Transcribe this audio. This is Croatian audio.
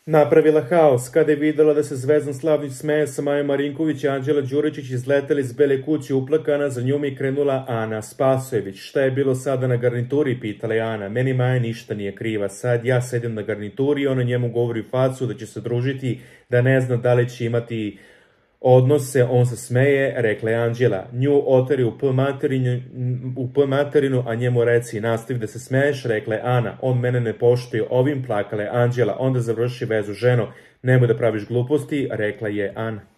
Napravila haos kada je videla da se Zvezdan Slavnić smeje sa Majom Marinković i Anđela Đuričić izleteli iz Bele kuće uplakana, za njom je krenula Ana Spasojević. Šta je bilo sada na garnituri, pitala je Ana. Meni Maja ništa nije kriva, sad ja sedim na garnituri i ona njemu govori u facu da će se družiti, da ne zna da li će imati odnose, on se smeje, rekla je Anđela. Nju oteri u P materinu, a njemu reci nastavi da se smeješ, rekla je Ana. On mene ne poštuje, ovim plakala je Anđela, onda završi vezu ženo, nemoj da praviš gluposti, rekla je Ana.